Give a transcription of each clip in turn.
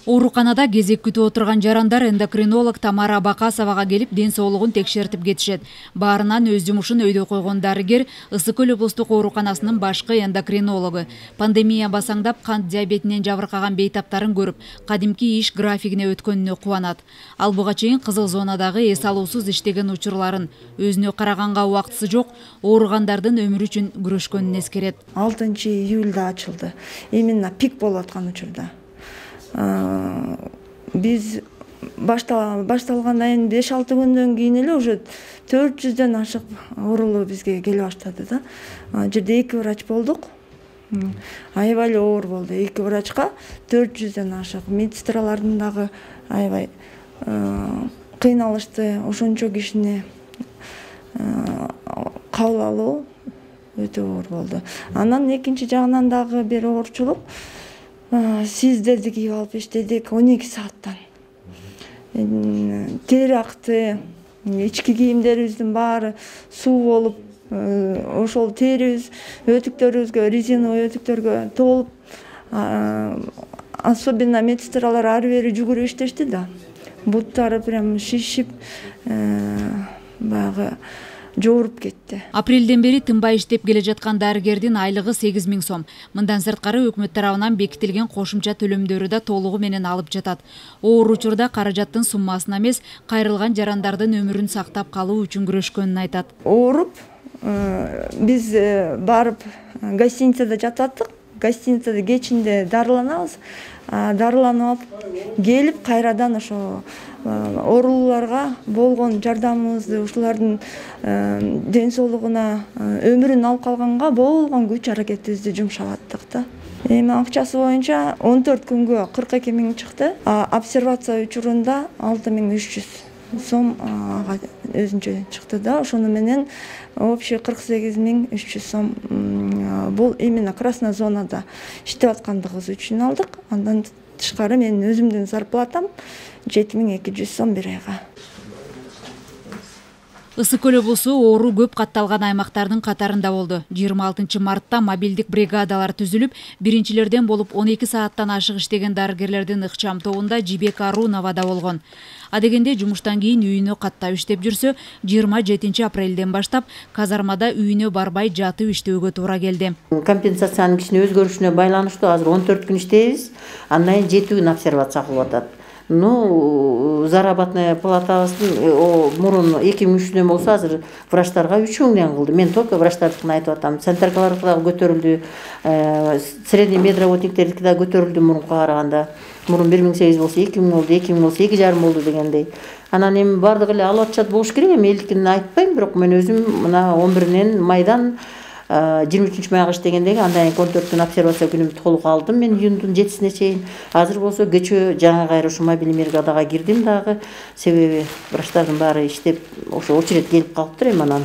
Ооруканада кезек күтүп отурган жарандар эндокринолог Тамара Бакасовага келип ден соолугун текшертип кетишет. Баарынан өз жумушун өйдө койгон дарыгер Ысык Көл облустук ооруканасынын башкы эндокринологу. Пандемия басаңдап кант диабетинен жабыркаган бейтаптарын көрүп, кадимки иш графигине өткөнүнө кубанат. Ал буга чейин кызыл зонадагы эс алуусуз иштеген учурларын, өзүнө караганга убактысы жок ооругандардын өмүрү үчүн күрөшкөнүн эскерет. 6-июлда ачылды. Именно пик болуп аткан учурда. Биз башталгандан кийин 5-6 күндөн кийин эле уже 400дөн ашык оорулуу бизге келе баштады да. Жерде 2 врач болдук. Аябай эле оор болду. 2 врачка 400дөн ашык. Медсестралардын дагы аябай кыйналышты. Ошончо кишини кабыл алуу өтө оор болду. Анан экинчи жагынан дагы бир оорчулук. Сиздерди кийип алып иштедик 12 сааттан. Тери акты, ички кийимдерибиздин баары суу болуп, ошол терибиз өтүктөрүбүзгө, резиновый өтүктөргө толуп, особенно медсестралар ары бери жүгүрүп иштешти да. Буттары прям шишип, баягы жооруп кетти. Апрелден бери тынбай иштеп келе жаткан дарыгердин айлыгы 8000 сом. Мындан сырткары өкмөт тарабынан бекитилген кошумча төлөмдөрү да толугу менен алып жатат. Оор учурда каражаттын суммасына эмес, кайрылган жарандардын өмүрүн сактап калуу үчүн күрөшкөнүн айтат. Ооруп, биз барып гостиницада жататтык. Гостиницада кечинде дарыланабыз. Дарыланып келип кайрадан ошо оорулууларга болгон жардамыбызды, ушулардын ден соолугуна, өмүрүн алып калганга болгон күч аракетибизди жумшап аттык да. Эми акчасы боюнча 14 күнгө 42 000 чыкты. Обсервация учурунда 6300 сом өзүнчө чыкты да. Ошону менен общий 48 300 сом. Бул именно красная зонада иштеп аткандыгыбыз үчүн алдык. Андан тышкары менин өзүмдүн зарплатам 7200 сом бир айга. Ысык Көл облусу оору көп катталган аймактардын катарында болду. 26 мартта мобилдик бригадалар түзүлүп, биринчилерден болуп 12 сааттан ашык иштеген дарыгерлердин ыкчам тобунда Жибек Арунова да болгон. Адегенде жумуштан кийин үйүнө каттап иштеп жүрсө, 27 апрелден баштап казармада үйүнө барбай жатып иштөөгө туура келди. Компенсациянын кичине өзгөрүшүнө байланыштуу азыр 14 күн иштейбиз, андан кийин 7 күн обсервация кылып атат. Заработная платабыздын мурун 2300дөн болсо азыр врачтарга 3000ден кылды. Мен только врачтардыкын айтып атам. Санитаркалардыкы дагы көтөрүлдү, средний медработниктердики дагы көтөрүлдү мурунга караганда. Мурун 1008 болсо 2000 болду, 2000 болсо 2,5 болду дегендей. Анан эми бардыгы эле алып атышат болуш керек. Эми элдикин айтпайм, бирок мен өзүм мына 11 майдан 23 майга иштегендеги андан кийин 14 күн обсервация күнүмдү толук алдым. Мен июндун 7-сине чейин. Азыр болсо кечөө жаңы кайра ушу мобильный бригадага кирдим дагы. Себеби врачтардын баары иштеп, ошо очередь келип калыптыр. Эми анан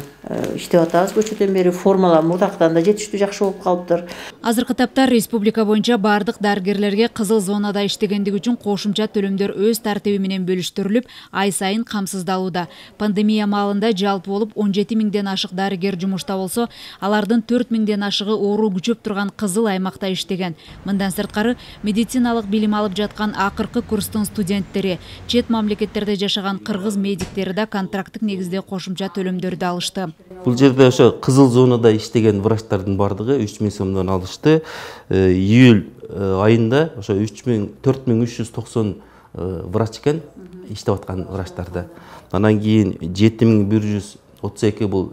иштеп атабыз көчөдөн бери. Формалар мурдактан да жетиштүү жакшы болуп калыптыр. Азыркы тапта республика боюнча бардык дарыгерлерге кызыл зонада иштегендиги үчүн кошумча төлөмдөр өз тартиби менен бөлүштүрүлүп, ай сайын камсыздалууда. Пандемия маалында жалпы болуп 17 000ден ашык дарыгер жумушта болсо, алардын 4 000ден ашыгы оору күчөп турган кызыл аймакта иштеген. Мындан сырткары медициналык билим алып жаткан акыркы курстун студенттери, чет мамлекеттерде жашаган кыргыз медиктери да контракттык негизде кошумча төлөмдөрдү алышты. Бул жерде ошо кызыл зонада иштеген врачтардын бардыгы 3000 сомдон алышты. Июль айында ошо 4390 врач экен иштеп аткан врачтарда. Анан кийин 7132 бул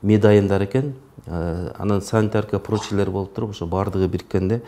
медайындар экен. Анан санитарка прочилер болуп туруп, ошо бардыгы бириккенде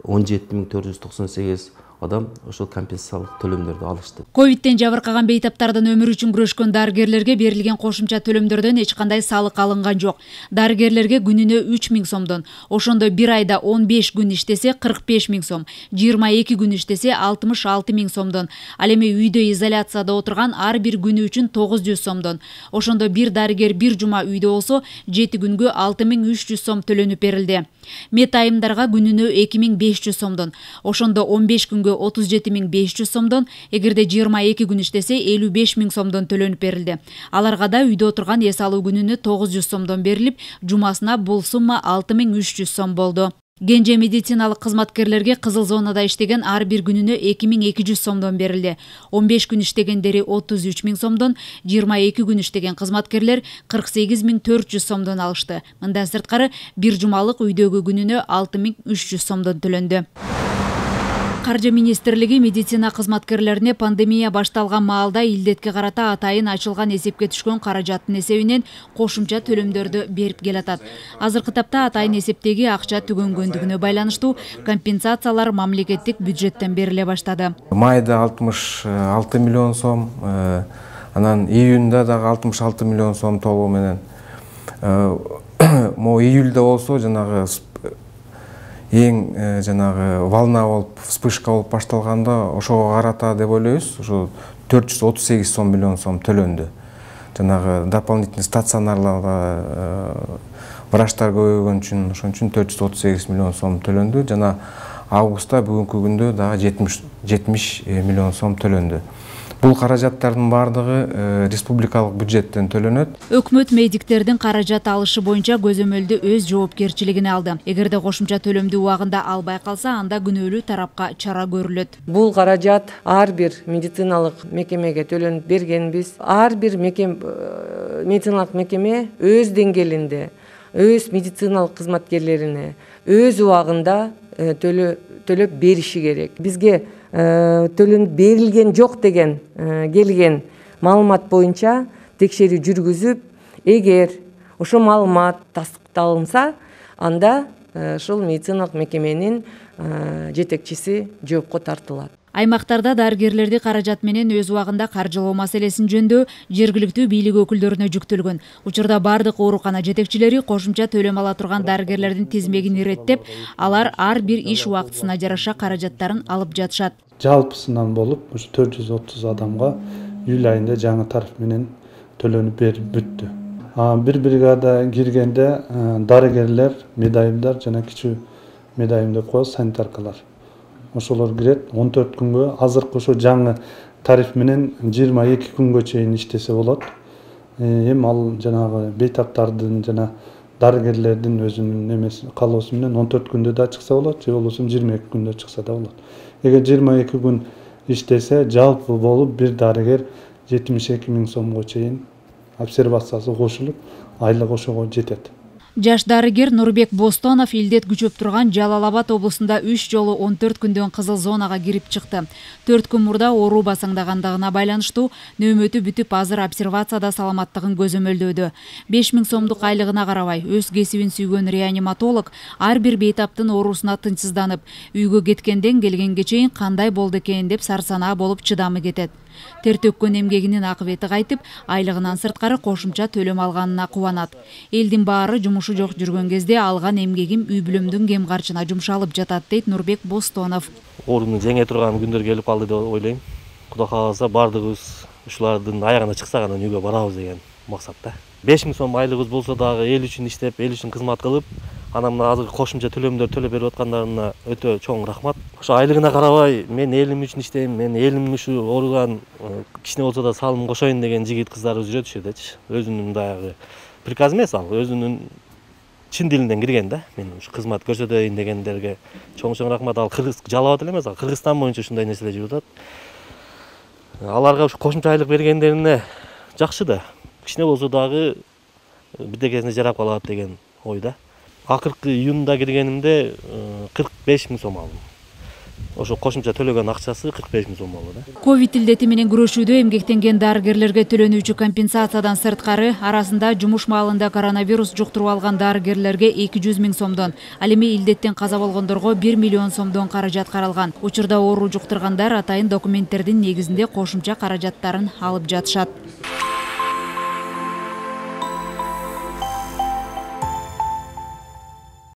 17498 адам ошол компенсациялык төлөмдөрдү алышты. Ковидтен жабыркаган бейтаптардын өмүрү үчүн күрөшкөн дарыгерлерге берилген кошумча төлөмдөрдөн эч кандай салык алынган жок. Дарыгерлерге күнүнө 3000 сомдон, ошондо бир айда 15 күн иштесе 45 000 сом, 22 күн иштесе 66 000 сомдон, ал эми үйдө изоляцияда отурган ар бир күнү үчүн 900 сомдон, ошондо бир дарыгер бир жума үйдө болсо 7 күнгө 6300 сом төлөнүп берилди. Мет айымдарга күнүнө 2500 сомдон, ошондо 15 күнгө 37 500 сомдон, эгерде 22 күн иштесе 55 000 сомдон төлөнүп берилди. Аларга да үйдө отурган эс алуу күнүнө 900 сомдон берилип, жумасына бул сумма 6300 сом болду. Кенже медициналык кызматкерлерге кызыл зонада иштеген ар бир күнүнө 2200 сомдон берилди. 15 күн иштегендери 33 000 сомдон, 22 күн иштеген кызматкерлер 48 400 сомдон алышты. Мындан сырткары бир жумалык үйдөгү күнүнө 6300 сомдон төлөндү. Каржы министрлиги медицина кызматкерлерине пандемия башталган маалда илдетке карата атайын ачылган эсепке түшкөн каражаттын эсебинен кошумча төлөмдөрдү берип келатат. Азыркы тапта атайын эсептеги акча түгөнгөндүгүнө байланыштуу компенсациялар мамлекеттик бюджеттен бериле баштады. Майда 66 миллион сом, анан июнда дагы 66 миллион сом толугу менен. Мо июльда болсо жанагы эң жанагы волна болуп, вспышка болуп башталганда ошого карата деп ойлойбуз, ошо 438 миллион сом төлөндү. Жанагы дополнительный стационарларда врачтар көбөйгөн үчүн, ошон үчүн 438 миллион сом төлөндү. Жана августта бүгүнкү күндө дагы 70 миллион сом төлөндү. Бул каражаттардын бардыгы республикалык бюджеттен төлөнөт. Өкмөт медиктердин каражат алышы боюнча көзөмөлдү өз жоопкерчилигине алды. Эгерде кошумча төлөмдү убагында албай калса, анда күнөөлүү тарапка чара көрүлөт. Бул каражат ар бир медициналык мекемеге төлөнүп бергенбиз. Ар бир медициналык мекеме өз деңгээлинде, өз медициналык кызматкерлерине өз убагында төлөп бериши керек. Бизге төлөнүп берилген жок деген келген маалымат боюнча текшерүү жүргүзүп, эгер ошол маалымат тастыкталынса, анда ошол медициналык мекеменин жетекчиси жоопко тартылат. Аймактарда дарыгерлерди каражат менен өз убагында каржылоо маселесин жөндөй жергиликтүү бийлик өкүлдөрүнө жүктөлгөн. Учурда бардык оорукана жетекчилери кошумча төлөм ала турган дарыгерлердин тизмегин иреттеп, алар ар бир иш убактысына жараша каражаттарын алып жатышат. Жалпысынан болуп, ушу 430 адамга июль айында жаңы тариф менен төлөнүп берип бүттү. Бир бригада киргенде дарыгерлер, медайымдар жана кичүү медайым деп коебуз, санитаркалар. Ошолор кирет 14 күнгө, азыркы ошо жаңы тариф менен 22 күнгө чейин иштесе болот. Эми ал жанагы бейтаптардын жана дарыгерлердин өзүнүн эмеси каалоосу менен 14 күндө да чыкса болот, же болбосо 22 күндө чыкса да болот. Эгер 22 күн иштесе, жалпы болуп бир дарыгер 72 000 сомго чейин обсервациясы кошулуп, айлык ошого жетет. Жаш дарыгер Нурбек Бостонов илдет күчөп турган Жалал Абад облусунда 3 жолу 14 күндөн кызыл зонага кирип чыкты. 4 күн мурда оору басаңдагандыгына байланыштуу нөөмөтү бүтүп, азыр обсервацияда саламаттыгын көзөмөлдөөдө. 5000 сомдук айлыгына карабай, өз кесибин сүйгөн реаниматолог ар бир бейтаптын оорусуна тынчсызданып, үйгө кеткенден келгенге чейин кандай болду экен деп сарсанаа болуп чыдамы кетет. Тер төккөн эмгегинин акыбети кайтып, айлыгынан сырткары кошумча төлөм алганына кубанат. Элдин баары жумушу жок жүргөн кезде алган эмгегим үй бүлөмдүн кем карчына жумшалып жатат, дейт Нурбек Бостонов. Оорунун жеңе турган күндөр келип калды деп ойлойм. Кудай кааласа бардыгыбыз ушулардын аягына чыксак анан үйгө барабыз деген максатта. 5000 сом айлыгыбыз болсо дагы эл үчүн иштеп, эл үчүн кызмат кылып, анан мына азыр кошумча төлөмдөр төлөп берип аткандарына өтө чоң рахмат. Ошо айлыгына карабай, мен элим үчүн иштейм, мен элим ушу ооруган кичине болсо да салым кошоюн деген жигит кыздарыбыз жүрөт ушул жердечи. Өзүнүн дагы приказ эмес ал, өзүнүн чын дилинден кирген да. Мен ушу кызмат көрсөтөйүн дегендерге чоң рахмат. Ал Жалал Абад эле эмес, ал Кыргызстан боюнча ушундай нерселер жүрүп атат. Аларга ушу кошумча айлык бергендерине жакшы да. Кичине болсо дагы бирдекесине жарап калат деген ойда. Акыркы июнда киргенимде 45 000 сом алдым. Ошо кошумча төлөгөн акчасы 45 000 сом болду да. Ковид илдети менен күрөшүүдө эмгектенген дарыгерлерге төлөнүүчү компенсациядан сырткары арасында жумуш маалында коронавирус жуктуруп алган дарыгерлерге 200 000 сомдон, ал эми илдеттен каза болгондорго 1 миллион сомдон каражат каралган. Учурда оору жуктургандар атайын документтердин негизинде кошумча каражаттарын алып жатышат.